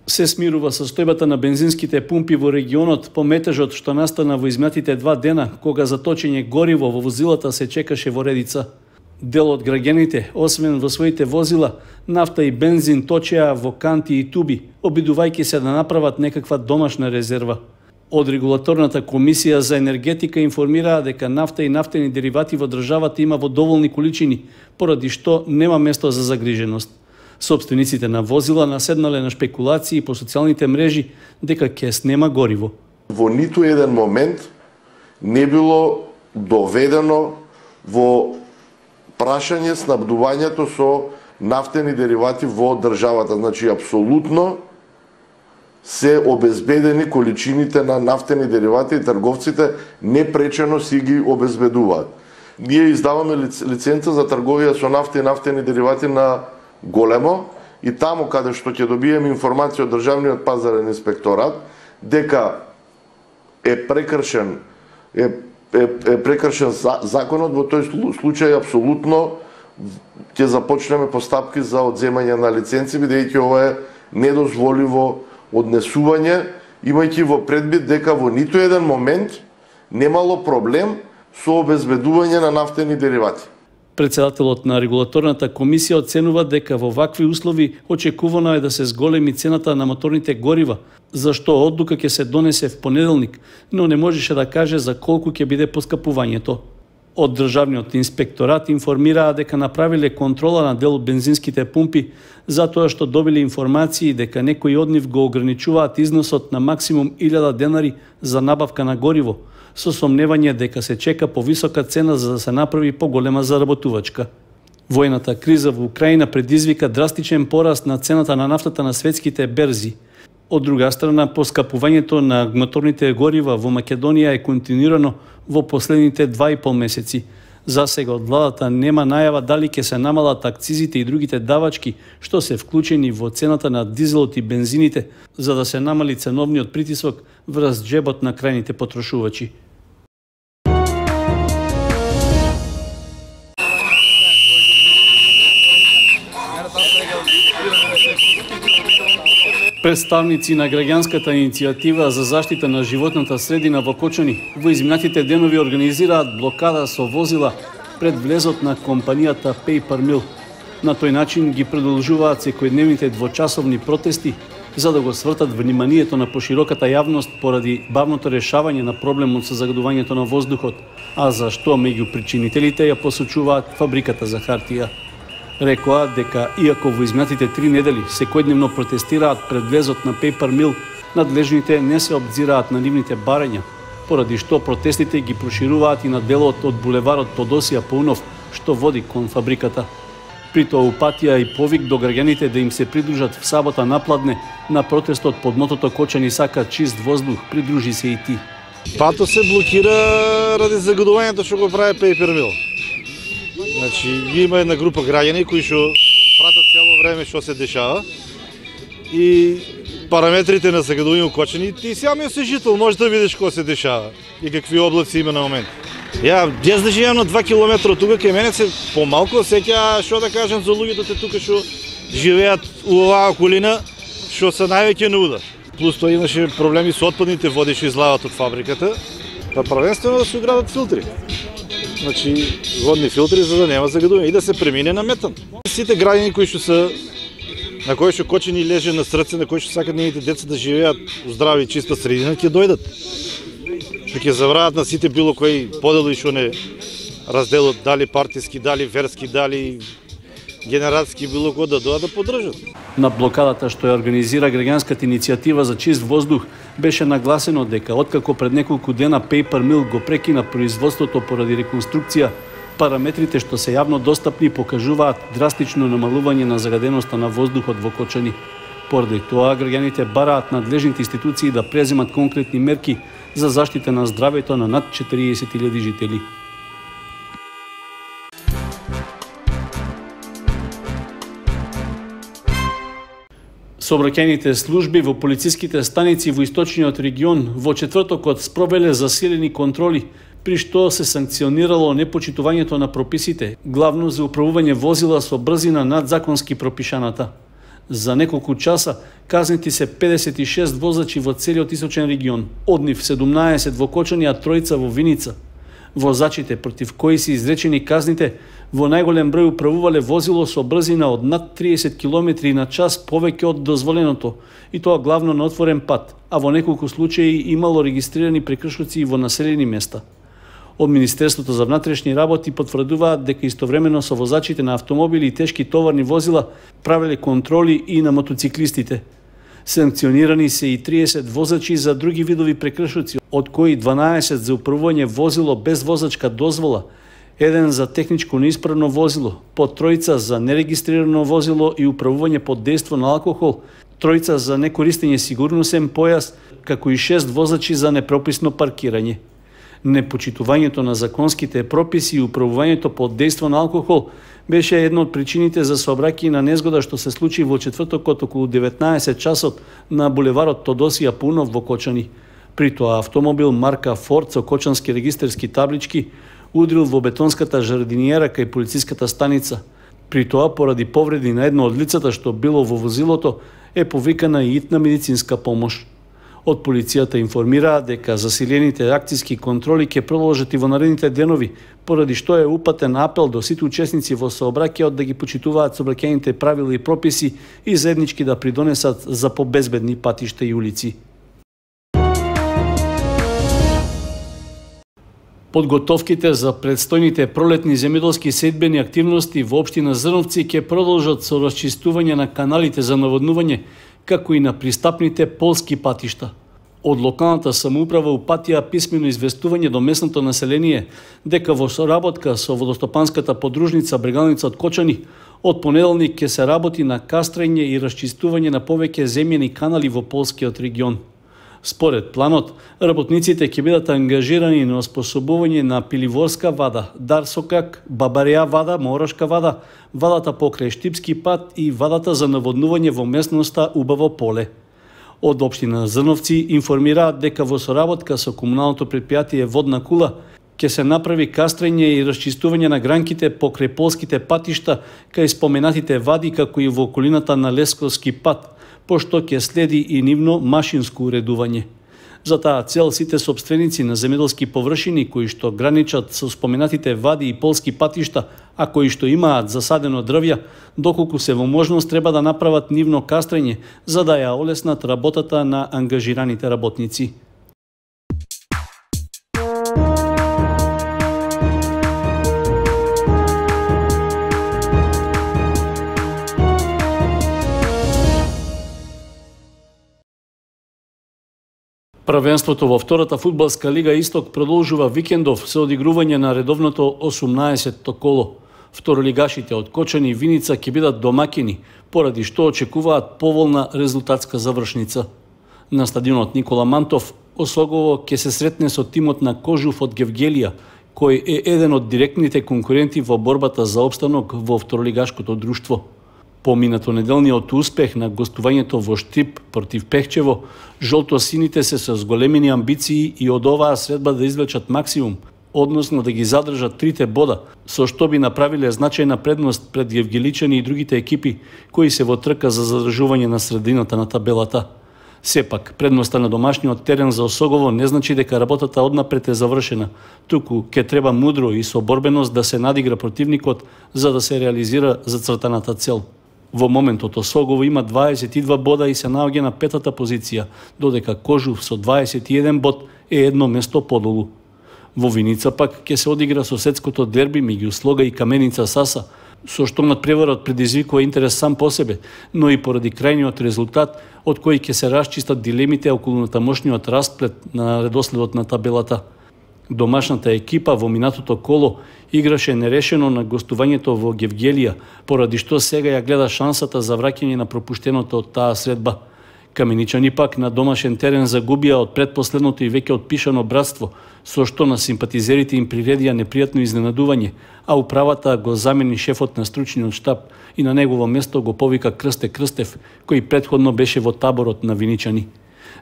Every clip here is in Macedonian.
Се смирува состојбата на бензинските пумпи во регионот по метежот што настана во изминатите 2 дена, кога за точење гориво во возилата се чекаше во редица. Дел од граѓаните, освен во своите возила, нафта и бензин точеа во канти и туби, обидувајќи се да направат некаква домашна резерва. Од Регулаторната комисија за енергетика информираа дека нафта и нафтени деривати во државата има во доволни количини, поради што нема место за загриженост. Собствениците на возила наседнале на шпекулации по социјалните мрежи дека ќе снема гориво. Во ниту еден момент не било доведено во прашање снабдувањето со нафтени деривати во државата. Значи, апсолутно се обезбедени количините на нафтени деривати и трговците непречено си ги обезбедуваат. Ние издаваме лиценца за трговија со нафта и нафтени деривати на големо и таму каде што ќе добиеме информација од Државниот пазарен инспекторат дека е прекршен законот, во тој случај апсолутно ќе започнеме постапки за одземање на лиценци, бидејќи ова е недозволиво однесување, имајќи во предвид дека во ниту еден момент немало проблем со обезбедување на нафтени деривати. Председателот на Регулаторната комисија оценува дека во вакви услови очекувано е да се зголеми цената на моторните горива, за што одлука ќе се донесе в понеделник, но не можеше да каже за колку ќе биде поскапувањето. Од Државниот инспекторат информираа дека направиле контрола на дел бензинските пумпи, затоа што добиле информации дека некои од нив го ограничуваат износот на максимум 1000 денари за набавка на гориво, со сомневање дека се чека повисока цена за да се направи поголема заработувачка. Војната криза во Украина предизвика драстичен пораст на цената на нафтата на светските берзи. Од друга страна, поскапувањето на моторните горива во Македонија е континуирано во последните 2,5 месеци. За сега од владата нема најава дали ќе се намалат акцизите и другите давачки што се вклучени во цената на дизелот и бензините, за да се намали ценовниот притисок врз џебот на крајните потрошувачи. Представници на граѓанската иницијатива за заштита на животната средина во Кочани во изминатите денови организираат блокада со возила пред влезот на компанијата Paper Mill. На тој начин ги продолжуваат секојдневните двочасовни протести за да го свртат вниманието на пошироката јавност поради бавното решавање на проблемот со загадувањето на воздухот, а за што меѓу причинителите ја посочуваат фабриката за хартија. Рекоа дека иако во изминатите 3 недели секојдневно протестираат пред влезот на Paper Mill, надлежните не се обзираат на нивните барања, поради што протестите ги прошируваат и на делот од булеварот Тодосија Паунов, што води кон фабриката. При тоа упатија и повик до граѓаните да им се придружат в сабота напладне на протестот под мотото Кочани сака чист воздух, придружи се и ти. Патот се блокира ради загадувањето што го прави Paper Mill. Значи, има една група граѓани кои што пратат цело време што се дешава и параметрите на загадување у Кочани, ти самиот си жител, можеш да видиш што се дешава и какви облаци има на момент. Јас да живеам на 2 километра од тука, кај мене се помалку сеќа, што да кажам за луѓето тука што живеат у оваа околина, што се највеќе на удар. Плюс тоа имаше проблеми со отпадните води што излават од фабриката, па првенствено да се уградат филтри. Значи, водни филтри за да нема загадување и да се премине на метан. Сите граѓани кои што се на кои што Кочани леже на срце, на кои што сакат нивните деца да живеат у здрава и чиста средина, ќе дојдат. Ќе забрават на сите било кои подели што не разделот, дали партиски, дали верски, дали генератски, било кој да дојдат да поддржат. На блокадата што ја организира граѓанската иницијатива за чист воздух беше нагласено дека откако пред неколку дена Paper Mill го прекина производството поради реконструкција, параметрите што се јавно достапни покажуваат драстично намалување на загаденоста на воздухот во Кочани. Поради тоа граѓаните бараат надлежните институции да преземат конкретни мерки за заштита на здравето на над 40.000 жители. Сообраќајните служби во полициските станици во источниот регион во четвртокот спровеле засилени контроли, при што се санкционирало непочитувањето на прописите, главно за управување возила со брзина над законски пропишаната. За неколку часа казнети се 56 возачи во целиот источен регион, од нив 17 во Кочани, а 3 во Виница. Возачите против кои се изречени казните во најголем број управувале возило со брзина од над 30 км на час повеќе од дозволеното, и тоа главно на отворен пат, а во неколку случаи имало регистрирани прекршоци и во населени места. Од Министерството за внатрешни работи потврдуваат дека истовремено со возачите на автомобили и тешки товарни возила правеле контроли и на мотоциклистите. Санкционирани се и 30 возачи за други видови прекршоци, од кои 12 за управување возило без возачка дозвола, 1 за техничко неисправно возило, по 3 за нерегистрирано возило и управување под дејство на алкохол, 3 за некористење сигурносен појас, како и 6 возачи за непрописно паркирање. Непочитувањето на законските прописи и управувањето под дејство на алкохол беше една од причините за сообраќајна незгода што се случи во четвртокот околу 19 часот на булеварот Тодосија Пунов во Кочани. При тоа автомобил марка Форд со кочански регистерски таблички удрил во бетонската жардиниера кај полициската станица. При тоа, поради повреди на едно од лицата што било во возилото, е повикана и итна медицинска помош. Од полицијата информираа дека засилените акцијски контроли ќе продолжат и во наредните денови, поради што е упатен апел до сите учесници во сообраќајот да ги почитуваат сообраќајните правила и прописи и заеднички да придонесат за побезбедни патишта и улици. Подготовките за предстојните пролетни земјоделски сејбени активности во општина Зрновци ќе продолжат со расчистување на каналите за наводнување, како и на пристапните полски патишта. Од локалната самоуправа упатија писмено известување до местното население дека во соработка со водостопанската подружница Брегалница од Кочани, од понеделник ќе се работи на кастрање и расчистување на повеќе земјени канали во полскиот регион. Според планот, работниците ќе бидат ангажирани на оспособување на Пиливорска вада, Дарсокак, Бабареа вада, Морошка вада, вадата покрај Штипски пат и вадата за наводнување во местноста Убаво поле. Од општина Зрновци информираат дека во соработка со комуналното предпријатие Водна кула ќе се направи кастрање и расчистување на гранките покрај полските патишта кај споменатите вади, како и во околината на Лесковски пат, пошто ќе следи и нивно машинско уредување. За таа цел сите сопственици на земјоделски површини кои што граничат со споменатите вади и полски патишта, а кои што имаат засадено дрвја, доколку се во можност треба да направат нивно кастрање за да ја олеснат работата на ангажираните работници. Првенството во втората фудбалска лига Исток продолжува викендов со одигрување на редовното 18-то коло. Второлигашите од Кочани и Виница ќе бидат домакини, поради што очекуваат поволна резултатска завршница. На стадионот Никола Мантов Осогово ќе се сретне со тимот на Кожув од Гевгелија, кој е еден од директните конкуренти во борбата за опстанок во второлигашкото друштво. Поминато неделниот успех на гостувањето во Штип против Пехчево, жолто-сините се со зголемени амбиции и од оваа средба да извлечат максимум, односно да ги задржат 3 бода, со што би направиле значајна предност пред Гевгеличани и другите екипи кои се во трка за задржување на средината на табелата. Сепак, предноста на домашниот терен за Осогово не значи дека работата однапред е завршена, туку ќе треба мудро и со борбеност да се надигра противникот за да се реализира зацртаната цел. Во моментот Осогово има 22 бода и се наоѓа на 5-та позиција, додека Кожув со 21 бод е едно место подолу. Во Виница пак ќе се одигра соседското дерби меѓу Слога и Каменица Саса, со што надпреварот предизвикува интерес сам по себе, но и поради крајниот резултат од кој ќе се расчистат дилемите околу тамошниот расплет на редоследот на табелата. Домашната екипа во минатото коло играше нерешено на гостувањето во Гевгелија, поради што сега ја гледа шансата за враќање на пропуштеното од таа средба. Каменичани пак на домашен терен загубија од предпоследното и веќе отпишано братство, со што на симпатизерите им приредија непријатно изненадување, а управата го замени шефот на стручниот штаб и на негово место го повика Крсте Крстев, кој претходно беше во таборот на виничани.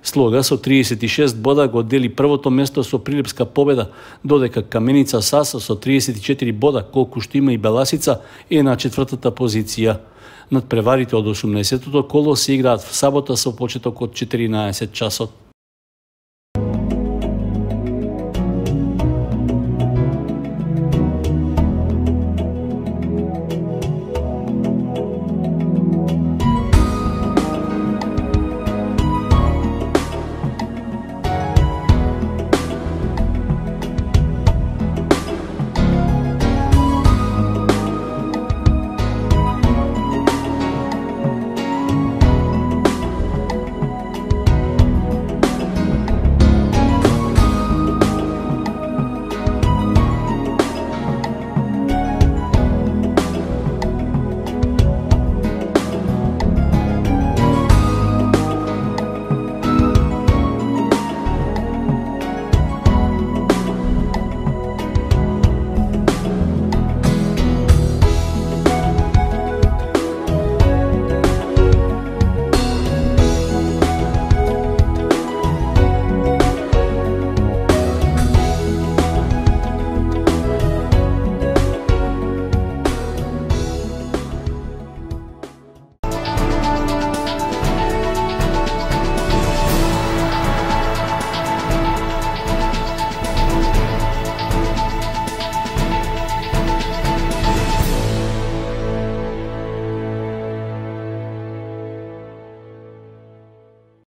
Слога со 36 бода го дели првото место со прилепска победа, додека Каменица Саса со 34 бода, колку што има и Беласица, е на 4-та позиција. Надпреварите од 18-тото коло се играат в сабота со почеток од 14 часот.